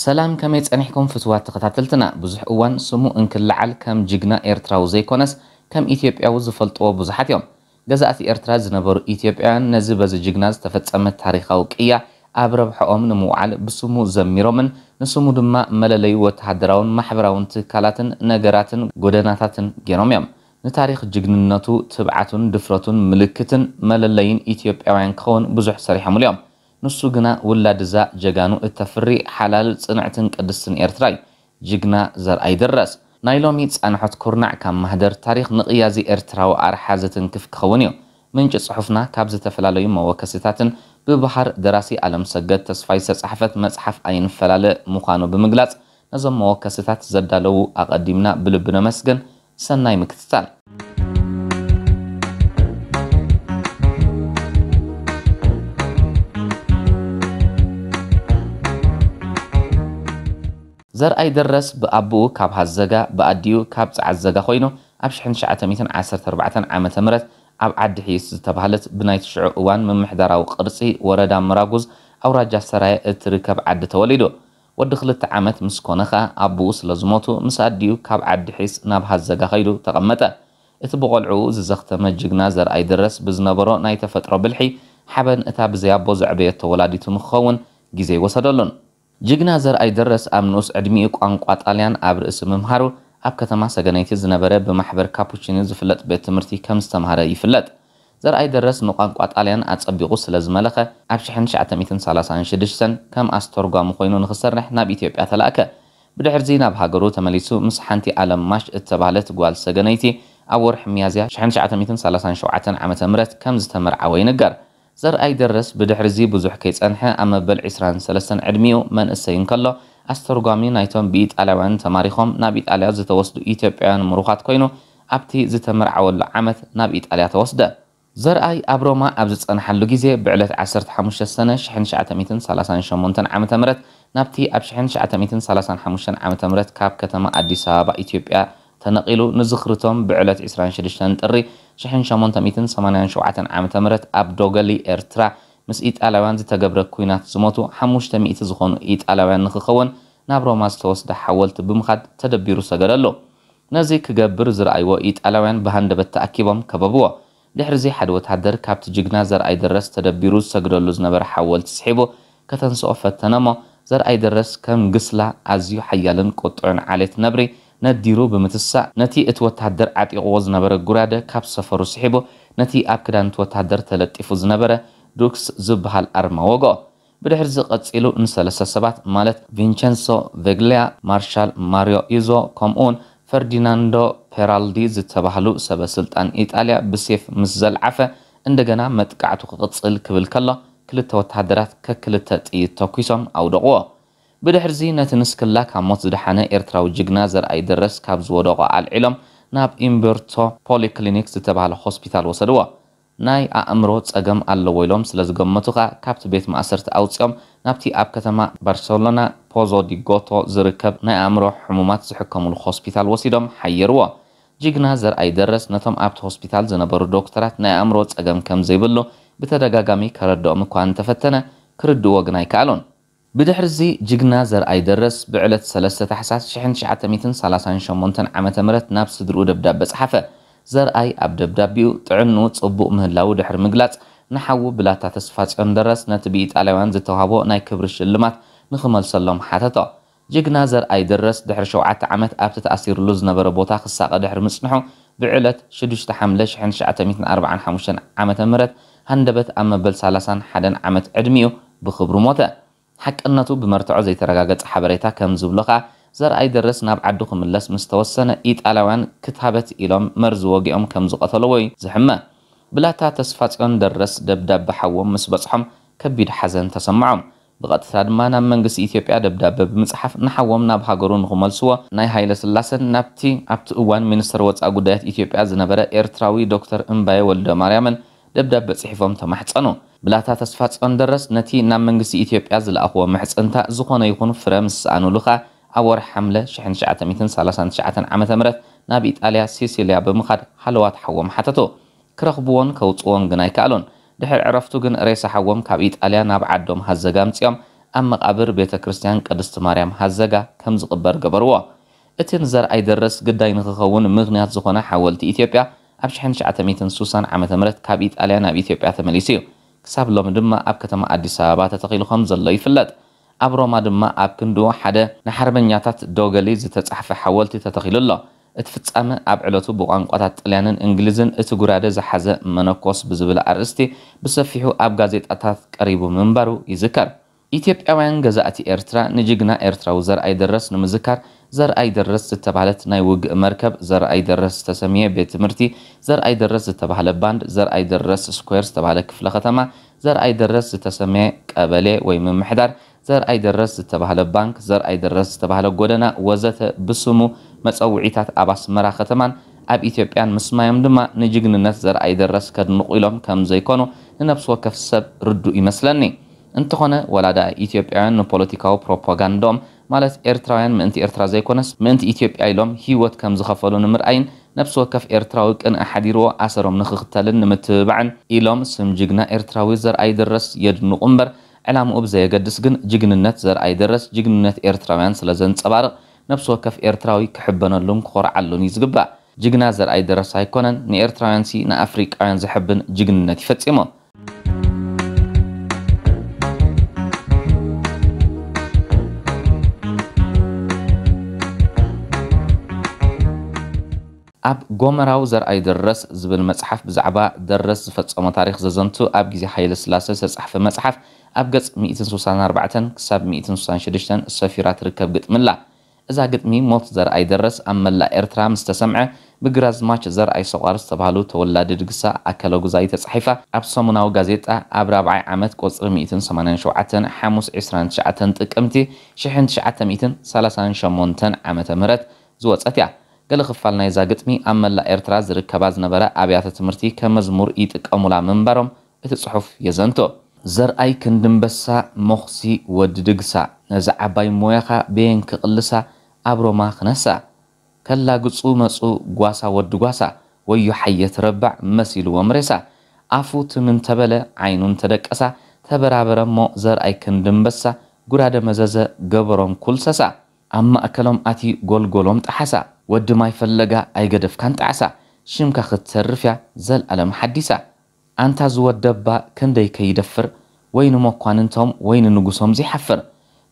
ሰላም፣ ከመይ ጸኒሕኩም ፍትዋት ተኸታተልትና? ብዙሕ እዋን ስሙ እንክለዓል ከም ጅግና ኤርትራዊ ዘይኮነስ ከም ኢትዮጵያዊ ዝፈልጥዎ ብዙሓት እዮም። ገዛእቲ ኤርትራ ዝነበሩ ኢትዮጵያውያን ነዚ በዚ ጅግና ዝተፈጸመ ታሪኻዊ ቅያ ኣብ ረብሐኦም ንምውዓል ብስሙ ዘሚሮምን ንስሙ ድማ መለለዩ ወተሃደራውን ማሕበራውን ትካላትን ነገራትን ጎደናታትን ገይሮም እዮም። ንታሪኽ ጅግንነቱ፣ ትብዓቱን ድፍረቱን ምልክትን መለለይን ኢትዮጵያውያን ክኸውን ብዙሕ ሰሪሖምሉ እዮም። ንሱ ግና ውላድ እዛ ጀጋኑ እተፍሪ ሓላል ጽንዕትን ቅድስትን ኤርትራ እዩ። ጅግና ዘርኣይ ደረስ። ናይ ሎሚ ጻንሖት ኩርናዕ ካብ ማህደር ታሪኽ ንቕያዚ ኤርትራዊ ኣርሓ ዘትንክፍ ክኸውን እዩ። ምንጪ ጽሑፍና ካብ ዝተፈላለዩ መወከስታትን ብበሃር ደራሲ ኣለምሰገድ ተስፋይ ዝተጻሕፈት መጽሓፍ ኣይንፈላለ ምዃኑ ብምግላጽ፣ ነዞም መወከስታት ዘዳለዉ ኣቐዲምና ብልቢ ነመስግን። ሰናይ ምክትታል። ዘርኣይ ደረስ ብኣቦኡ ካብ ሃዘጋ፣ ብኣዲኡ ካብ ጸዓዘጋ ኮይኑ፣ ኣብ ሽሕን ትሽዓተ ሚእትን ዓሰርተ ኣርባዕተን ዓመተ ምህረት ኣብ ዓዲ ሒስ ዝተባህለት ብናይቲ ሽዑ እዋን ምምሕዳራዊ ቅርጺ ወረዳ ምራጉዝ ኣውራጃ ሰራየ እትርከብ ዓዲ ተወሊዱ። ወዲ ክልተ ዓመት ምስ ኮነ ኸኣ ኣቦኡ ስለ ዝሞቱ፣ ምስ ኣዲኡ ካብ ዓዲ ሒስ ናብ ሃዘጋ ከይዱ ተቐመጠ። እቲ ብቖልዕኡ ዝዘኽተመ ጅግና ዘርኣይ ደረስ ብዝነበሮ ናይ ተፈጥሮ ብልሒ፣ ሓበን እታ ብዘይ ኣቦ ዘዕበየቶ ወላዲቱ ንክኸውን ግዜ ኣይወሰደሉን። ጅግና ዘርኣይ ደረስ ኣብ ንኡስ ዕድሚኡ ቋንቋ ጣልያን ኣብ ርእሲ ምምሃሩ፣ ኣብ ከተማ ሰገነይቲ ዝነበረ ብማሕበር ካፑቺኒ ዝፍለጥ ቤት ትምህርቲ ከም ዝተምሃረ ይፍለጥ። ዘርኣይ ደረስ ንቋንቋ ጣልያን ኣጸቢቑ ስለ ዝመለኸ፣ ኣብ ሽሕን ትሽዓተ ሚእትን ሰላሳን ሽዱሽተን ከም ኣስተርጓሚ ኮይኑ ንኽሰርሕ ናብ ኢትዮጵያ ተላእከ። ብድሕርዚ ናብ ሃገሩ ተመሊሱ ምስ ሓንቲ ኣለም ማሽ እተባህለት ጓል ሰገነይቲ ኣብ ወርሒ ሚያዝያ ሽሕን ትሽዓተ ሚእትን ሰላሳን ሸውዓተን ዓመተ ምህረት ከም ዝተመርዓወ ይንገር። ዘርኣይ ደረስ ብድሕርዚ ብዙሕ ከይጸንሐ ኣብ መበል ዕስራን ሰለስተን ዕድሚኡ መንእሰይ እንከሎ ኣስተርጓሚ ናይቶም ብኢጣልያውያን ተማሪኾም ናብ ኢጣልያ ዝተወስዱ ኢትዮጵያውያን ምሩኻት ኮይኑ ኣብቲ ዝተመርዓወሉ ዓመት ናብ ኢጣልያ ተወስደ። ዘርኣይ ኣብ ሮማ ኣብ ዝጸንሓሉ ግዜ ብዕለት ዓሰርተ ሓሙሽተ ሰነ ሽሕን ትሽዓተ ሚእትን ሰላሳን ሸሞንተን ዓመተ ምህረት ናብቲ ኣብ ሽሕን ትሽዓተ ሚእትን ሰላሳን ሓሙሽተን ዓመተ ምህረት ካብ ከተማ ኣዲስ ኣበባ ኢትዮጵያ ተነቒሉ ንዝኽርቶም ብዕለት ዕስራን ሽዱሽተን ጥሪ ሽሕን ሸሞንተ ሚእትን ሰማንያን ሸውዓተን ዓመተ ምህረት ኣብ ዶገሊ ኤርትራ ምስ ኢጣልያውያን ዝተገብረ ኲናት ዝሞቱ ሓሙሽተ ሚእቲ ዝኾኑ ኢጣልያውያን ንኽኸውን ናብ ሮማ ዝተወስደ ሓወልቲ ብምኻድ ተደቢሩ ሰገደሉ። ነዚ ክገብር ዝረኣይዎ ኢጣልያውያን ብሃንደበት ተኣኪቦም ከበብዎ። ድሕርዚ ሓደ ወተሃደር ካብቲ ጅግና ዘርኣይ ደረስ ተደቢሩ ዝሰግደሉ ዝነበረ ሓወልቲ ስሒቡ ከተንስኦ ፈተነ እሞ፣ ዘርኣይ ደረስ ከም ግስላ ኣዝዩ ሓያልን ቁጡዕን ዓሌት ነብሪ ነዲሩ ብምትሳእ፣ ነቲ እቲ ወተሃደር ዓጢቕዎ ዝነበረ ጉራደ ካብ ሰፈሩ ስሒቡ፣ ነቲ ኣብ ክዳን እቲ ወተሃደር ተለጢፉ ዝነበረ ዱክስ ዝበሃል ኣርማ ወግኦ። ብድሕርዚ ቀጺሉ ንሰለስተ ሰባት፣ ማለት ቪንቸንሶ ቬግሊያ፣ ማርሻል ማሪዮ ኢዞ፣ ከምኡውን ፈርዲናንዶ ፔራልዲ ዝተባህሉ ሰበ ስልጣን ኢጣልያ ብሴፍ ምስ ዘልዓፈ፣ እንደገና መጥቃዕቱ ክቕጽል ክብል ከሎ፣ ክልተ ወተሃደራት ከክልተ ጥይት ተኲሶም ኣውደቕዎ። ብድሕርዚ ነቲ ንስክላ ካብ ሞት ዝደሓነ ኤርትራዊ ጅግና ዘርኣይ ደረስ ካብ ዝወደቖ ኣልዒሎም ናብ ኢምበርቶ ፖሊክሊኒክ ዝተባህለ ሆስፒታል ወሰድዎ። ናይ ኣእምሮ ጸገም ኣለዎ ኢሎም ስለ ዝገመቱ ከኣ ካብቲ ቤት ማእሰርቲ ኣውጺኦም ናብቲ ኣብ ከተማ ባርሰሎና ፖዞ ዲ ጎቶ ዝርከብ ናይ ኣእምሮ ሕሙማት ዝሕከሙሉ ሆስፒታል ወሲዶም ሓየርዎ። ጅግና ዘርኣይ ደረስ ነቶም ኣብቲ ሆስፒታል ዝነበሩ ዶክተራት ናይ ኣእምሮ ጸገም ከም ዘይብሉ ብተደጋጋሚ ከረድኦም እኳ እንተፈተነ፣ ክርድእዎ ግን ኣይከኣሉን። ብድሕርዚ ጅግና ዘርኣይ ደረስ ብዕለት ሰለስተ ታሕሳስ ሽሕን ትሽዓተ ሚእትን ሰላሳን ሸሞንተን ዓመተ ምህረት ናብ ስድርኡ ደብዳበ ጸሓፈ። ዘርኣይ ኣብ ደብዳቤኡ ጥዕንኡ ጽቡቕ ምህላዉ ድሕሪ ምግላጽ፣ ንሓዉ ብላታ ተስፋጽዮን ደረስ ነቲ ብኢጣልያውያን ዝተዋህቦ ናይ ክብሪ ሽልማት ንኽመልሰሎም ሓተቶ። ጅግና ዘርኣይ ደረስ ድሕሪ ሸውዓተ ዓመት ኣብቲ ተኣሲሩሉ ዝነበረ ቦታ ክሳቐ ድሕሪ ምጽንሑ፣ ብዕለት ሽዱሽተ ሓምለ ሽሕን ትሽዓተ ሚእትን ኣርባዓን ሓሙሽተን ዓመተ ምህረት ሃንደበት ኣብ መበል ሰላሳን ሓደን ዓመት ዕድሚኡ ብኽብሪ ሞተ። ሓቅነቱ ብመርትዖ ዘይተረጋገጸ ሓበሬታ ከም ዝብሎ ከኣ፣ ዘርኣይ ደረስ ናብ ዓዱ ክምለስ ምስ ተወሰነ፣ ኢጣልያውያን ክታበት ኢሎም መርዚ ወጊኦም ከም ዝቐተልዎ እዩ ዝሕመ። ብላታ ተስፋጽዮን ደረስ ደብዳበ ሓዎም ምስ በጽሖም፣ ከቢድ ሓዘን ተሰምዖም። ብቐጥታ ድማ ናብ መንግስቲ ኢትዮጵያ ደብዳበ ብምጽሓፍ፣ ንሓዎም ናብ ሃገሩ ንኽመልስዎ ናይ ሃይለ ስላሰን ናብቲ ኣብቲ እዋን ሚኒስትር ወጻኢ ጉዳያት ኢትዮጵያ ዝነበረ ኤርትራዊ ዶክተር እምባየ ወልደ ማርያምን ደብዳበ ጽሒፎም ተማሕጸኑ። ብላታ ተስፋጽዮን ደረስ ነቲ ናብ መንግስቲ ኢትዮጵያ ዝለኣኽዎ ምሕጽንታ ዝኾነ ይኹን ፍረ ምስ ሰኣኑሉ ከኣ፣ ኣብ ወርሒ ሓምለ ሽሕን ትሽዓተ ሚእትን ሰላሳን ትሽዓተን ዓመተ ምህረት ናብ ኢጣልያ ሲሲልያ ብምኻድ ሃለዋት ሓዎም ሓተቱ። ክረኽብዎን ከውጽዎን ግን ኣይከኣሉን። ድሕሪ ዕረፍቱ ግን ሬሳ ሓዎም ካብ ኢጣልያ ናብ ዓዶም ሃዘጋ ኣምጺኦም ኣብ መቓብር ቤተ ክርስቲያን ቅድስቲ ማርያም ሃዘጋ ከም ዝቕበር ገበርዎ። እቲ ንዘርኣይ ደረስ ግዳይ ንኽኸውን ምኽንያት ዝኾነ ሓወልቲ ኢትዮጵያ ኣብ ሽሕን ትሽዓተ ሚእትን ስሳን ዓመተ ምህረት ካብ ኢጣልያ ናብ ኢትዮጵያ ተመሊሱ እዩ። ክሳብ ሎሚ ድማ ኣብ ከተማ ኣዲስ ኣበባ ተተኺሉ ከም ዘሎ ይፍለጥ። ኣብ ሮማ ድማ ኣብ ክንድኡ ሓደ ንሓርበኛታት ዶገሊ ዝተጻሕፈ ሓወልቲ ተተኺሉ ኣሎ። እቲ ፍጻመ ኣብ ዕለቱ ብቋንቋታት ጥልያንን እንግሊዝን እቲ ጉራደ ዝሓዘ መነኮስ ብዝብል ኣርእስቲ ብሰፊሑ ኣብ ጋዜጣታት ቀሪቡ ምንባሩ ይዝከር። ኢትዮጵያውያን ገዛእቲ ኤርትራ ንጅግና ኤርትራዊ ዘርኣይ ደረስ ንምዝካር ዘርኣይ ደረስ ዝተባህለት ናይ ውግእ መርከብ፣ ዘርኣይ ደረስ ዝተሰምየ ቤት ትምህርቲ፣ ዘርኣይ ደረስ ዝተባህለ ባንድ፣ ዘርኣይ ደረስ ስኩዌር ዝተባህለ ክፍለ ከተማ፣ ዘርኣይ ደረስ ዝተሰምየ ቀበሌ ወይ ምምሕዳር፣ ዘርኣይ ደረስ ዝተባህለ ባንክ፣ ዘርኣይ ደረስ ዝተባህለ ጎደና ወዘተ ብስሙ መጸውዒታት ኣብ ኣስመራ ከተማን ኣብ ኢትዮጵያን ምስማዮም ድማ ንጅግንነት ዘርኣይ ደረስ ከድንቑ ኢሎም ከም ዘይኮኑ ንነፍሲ ወከፍ ሰብ ርዱእ ይመስለኒ። እንተኾነ ወላ ደኣ ኢትዮጵያውያን ንፖለቲካዊ ፕሮፓጋንዳኦም ማለት ኤርትራውያን ምእንቲ ኤርትራ ዘይኮነስ ምእንቲ ኢትዮጵያ ኢሎም ህይወት ከም ዝኸፈሉ ንምርኣይን ነፍሲ ወከፍ ኤርትራዊ ቅንኢ ሓዲርዎ ኣሰሮም ንኽኽተልን ንምትብባዕን ኢሎም ስም ጅግና ኤርትራዊ ዘርኣይ ደረስ የድንቑ እምበር ዕላምኡ ብዘየገድስ ግን ጅግንነት ዘርኣይ ደረስ ጅግንነት ኤርትራውያን ስለ ዘንጸባርቕ ነፍሲ ወከፍ ኤርትራዊ ክሕበነሉን ክኾርዓሉን እዩ ዝግባእ። ጅግና ዘርኣይ ደረስ ኣይኮነን ንኤርትራውያንሲ ንኣፍሪቃውያን ዘሕብን ጅግንነት እዩ ፈጺሙ። ኣብ ጎመራው ዘርኣይ ደረስ ዝብል መጽሓፍ ብዛዕባ ደረስ ዝፈጸሞ ታሪኽ ዘዘንቱ ኣብ ግዜ ሃይለ ስላሰ ዝተጻሕፈ መጽሓፍ ኣብ ገጽ ሚእትን ስሳን ኣርባዕተን ክሳብ ሚእትን ስሳን ሽዱሽተን ሰፊራ ትርከብ ግጥሚ ኣላ። እዛ ግጥሚ ሞት ዘርኣይ ደረስ ኣብ መላእ ኤርትራ ምስ ተሰምዐ ብግራዝማች ዘርኣይ ሰቋር ዝተባህሉ ተወላዲ ድግሳ ኣከለጉዛይ ተጻሒፋ ኣብ ሰሙናዊ ጋዜጣ ኣብ ራብዓይ ዓመት ቁጽሪ ሚእትን ሰማንያን ሸውዓተን ሓሙስ ዕስራን ትሽዓተን ጥቅምቲ ሽሕን ትሽዓተ ሚእትን ሰላሳን ሸሞንተን ዓመተ ምህረት ዝወጸት እያ። ገለ ክፋል ናይዛ ግጥሚ ኣብ መላእ ኤርትራ ዝርከባ ዝነበራ ኣብያተ ትምህርቲ ከም መዝሙር ይጥቀሙላ ምንባሮም እቲ ጽሑፍ የዘንቶ። ዘርኣይ ክንድንበሳ ሞኽሲ ወዲ ድግሳ ነዛ ዓባይ ሞያኻ በየን ክቕልሳ ኣብ ሮማ ክነሳ ከላግጹ መጹ ጓሳ ወዲ ጓሳ ወዮ ሓየት ረባዕ መሲልዎም ሬሳ ኣፉ ትም እንተበለ ዓይኑ እንተደቀሳ ተበራበረ እሞ ዘርኣይ ክንድንበሳ ጉራደ መዘዘ ገበሮም ኩልሰሳ ኣብ ማእከሎም ኣትዩ ጎልጎሎም ጠሓሳ ወዲ ማይ ፈለጋ ኣይገደፍካን ጣዕሳ ሽምካ ክትተርፍ እያ ዘልኣለም ሓዲሳ ኣንታ ዝወደባ ክንደይ ከይደፍር ወይ ንመኳንንቶም ወይ ንንጉሶም ዘይሓፍር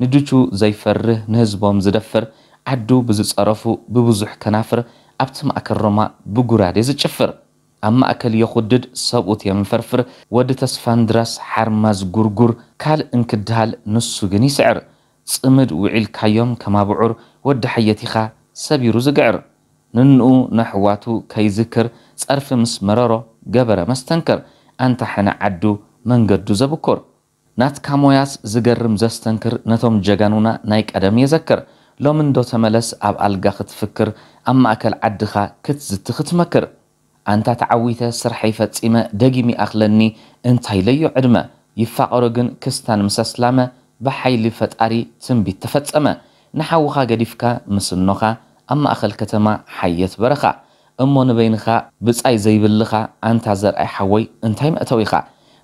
ንድቹ ዘይፈርህ ንህዝቦም ዝደፍር ዓዱ ብዝጸረፉ ብብዙሕ ከናፍር ኣብቲ ማእከል ሮማ ብጉራዴ ዝጭፍር ኣብ ማእከል የኹድድ ሰብኡት የምፈርፍር ወዲ ተስፋንድራስ ሓርማዝ ጉርጉር ካልእ እንክድሃል ንሱ ግን ይስዕር ጽምድ ውዒልካዮም ከማብዑር ወዲ ሓየት ኢኻ ሰቢሩ ዝግዕር ንንኡ ነሕዋቱ ከይዝክር ጸርፊ ምስ መረሮ ገበረ መስተንክር ኣንታ ሕነ ዓዱ መንገዱ ዘብኩር ናትካ ሞያስ ዝገርም ዘስተንክር ነቶም ጀጋኑና ናይ ቀደም የዘክር ሎሚ እንዶ ተመለስ ኣብ ኣልጋ ክትፍክር ኣብ ማእከል ዓድኻ ክትዝቲ ክትመክር ኣንታ ተዓዊተ ስርሐይ ፈጺመ ደጊም ይኣኽለኒ እንታይ ኢለዮ ዕድመ ይፋቐሮ ግን ክስታን ምስ ኣስላመ ብሓይሊ ፈጣሪ ትንቢት ተፈጸመ ንሓውኻ ገዲፍካ ምስ እኖኻ ኣብ ማእኸል ከተማ ሓየት በረኻ እሞ ንበይንኻ ብጻይ ዘይብልኻ ኣንታ ዘርኣይ ሓወይ እንታይ መእተዊኻ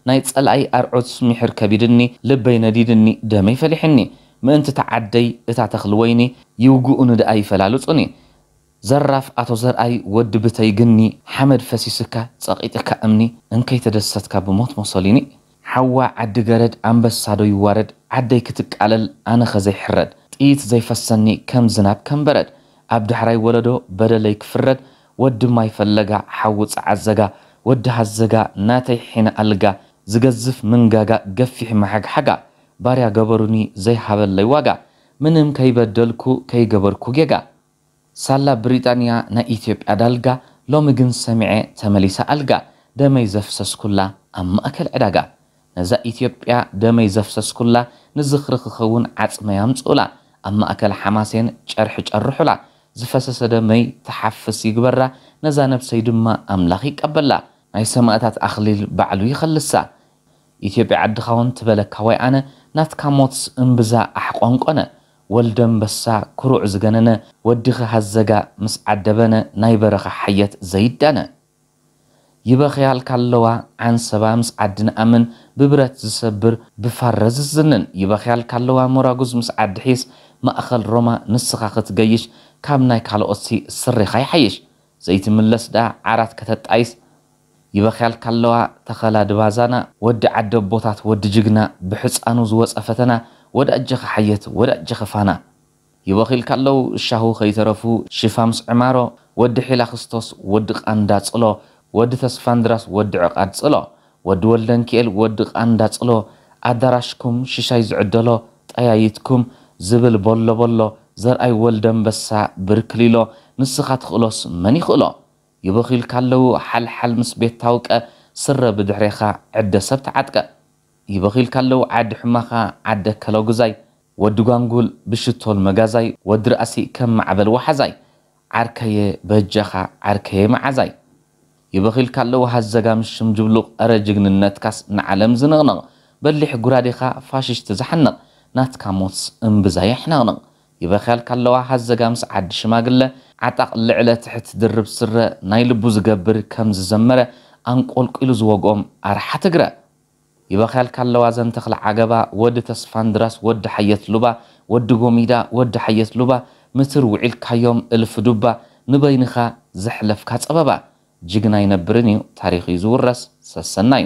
ናይ ጸላኣይ ኣርዑት ሚሕር ከቢድኒ ልበይ ነዲድኒ ደመይ ፈሊሕኒ ምእንቲ ተዓደይ እታ ተኽሊ ወይኒ ይውግኡኒ ደኣ ይፈላልጹኒ ዘራፍ ኣቶ ዘርኣይ ወዲ ብተይ ግኒ ሓመድ ፈሲስካ ጸቒጥካ እምኒ እንከይተደሰትካ ብሞት ሞሶሊኒ ሓዋ ዓዲ ገረድ ኣንበሳ ዶ ይዋረድ ዓደይ ክትቃለል ኣነኸ ዘይሕረድ ጥይት ዘይፈሰኒ ከም ዝናብ ከም በረድ ኣብ ዳሕራይ ወለዶ በደለይ ክፍረድ ወዲ ማይ ፈለጋ ሓዊ ጸዓዘጋ ወዲ ሃዘጋ ናተይ ሒነ ኣልጋ ዝገዝፍ ምንጋጋ ገፊሕ መሓግሓጋ ባርያ ገበሩኒ ዘይሃበለይ ዋጋ ምንም ከይበደልኩ ከይገበርኩ ጌጋ ሳላ ብሪጣንያ ናይ ኢትዮጵያ ዳልጋ ሎሚ ግን ሰሚዐ ተመሊሳ ኣልጋ ደመይ ዘፍሰስኩላ ኣብ ማእከል ዕዳጋ ነዛ ኢትዮጵያ ደመይ ዘፍሰስኩላ ንዝኽሪ ክኸውን ዓጽመይ ኣምጽኡላ ኣብ ማእከል ሓማሴን ጨርሒ ጨርሑላ ዝፈሰሰ ደመይ ትሓፍስ ይግበራ ነዛ ነብሰይ ድማ ኣምላኽ ይቀበላ ናይ ሰማእታት ኣኽሊል ባዕሉ ይኸልሳ ኢትዮጵያ ዓድኻ ውን ትበለካ ወይ ኣነ ናትካ ሞትስ እምብዛ ኣሕቆንቆነ ወልደንበሳ ኩሩዕ ዝገነነ ወዲኺ ሃዘጋ ምስ ዓደበነ ናይ በረኻ ሓየት ዘይዳነ ይበኽያልካ ኣለዋ ዓንሰባ ምስ ዓዲ ንኣምን፣ ብብረት ዝሰብር ብፋረ ዝዝንን። ይበኽያልካ ኣለዋ ሞራጉዝ ምስ ዓዲ ሒስ፣ ማእኸል ሮማ ንስኻ ክትገይሽ፣ ካብ ናይ ካልኦትሲ ስሬኻ ይሓይሽ። ዘይትምለስ ደኣ ዓራት ከተጣይስ። ይበኽያልካ ኣለዋ ተኸላ ድባዛና፣ ወዲ ዓዲ ኣቦታት ወዲ ጅግና፣ ብሕፃኑ ዝወፀ ፈተና፣ ወዳጀኸ ሓየት ወዳጀኸ ፋና። ይበኺልካ ኣለዉ ሻሁ ከይተረፉ ሽፋምስ ዕማሮ፣ ወዲ ሒላ ክስቶስ፣ ወዲ ቃንዳ ጽሎ፣ ወዲ ተስፋንድራስ፣ ወዲ ዕቓድ ጽሎ፣ ወዲ ወልደንኪኤል፣ ወዲ ቃንዳ ጽሎ፣ ኣዳራሽኩም ሽሻይ ዝዕደሎ፣ ጠያይትኩም ዝብል ቦሎ ቦሎ፣ ዘርኣይ ወልደንበሳ ብርክሊሎ፣ ንስኻ ትኽእሎስ መን ይኽእሎ? ይበኺልካ ኣለዉ ሓልሓል ምስ ቤት ታውቀ፣ ስረ ብድሕሬኻ ዕደ ሰብ ተዓጥቀ። ይበኺልካ ኣለዉ ዓዲ ሕማኻ ዓደ ከለጉዛይ፣ ወዲ ጓንጉል ብሽቶል መጋዛይ፣ ወዲ ርኣሲ ከም ማዕበል ወሓዛይ፣ ዓርከየ በጃኻ ዓርከየ መዓዛይ። ይበኺልካ ኣለዉ ሃዘጋ ምስ ሽም ጅብሉቕ፣ ኧረ ጅግንነትካስ ንዓለም ዝንቕንቕ፣ በሊሕ ጉራዴኻ ፋሽሽቲ ዝሓንቕ፣ ናትካ ሞትስ እምብዛ የሕነቕንቕ። ይበኽያልካ ኣለዋ ሃዘጋ ምስ ዓዲ ሽማግለ፣ ዓጣቕ ልዕለ ትሕት ድርብ ስረ፣ ናይ ልቡ ዝገብር ከም ዝዘመረ፣ ኣንቆልቂሉ ዝወግኦም ኣርሓ ትግረ። ይበኽያልካ ኣለዋ ዘንተኽለ ዓገባ፣ ወዲ ተስፋንድራስ፣ ወዲ ሓየት ሉባ፣ ወዲ ጎሚዳ፣ ወዲ ሓየት ሉባ፣ ምትር ውዒልካዮም እልፊ ዱባ፣ ንበይንኻ ዘሕለፍካ ጸበባ። ጅግና ኣይነብርን እዩ፣ ታሪኽ እዩ ዝውረስ፣ ሰሰናዩ።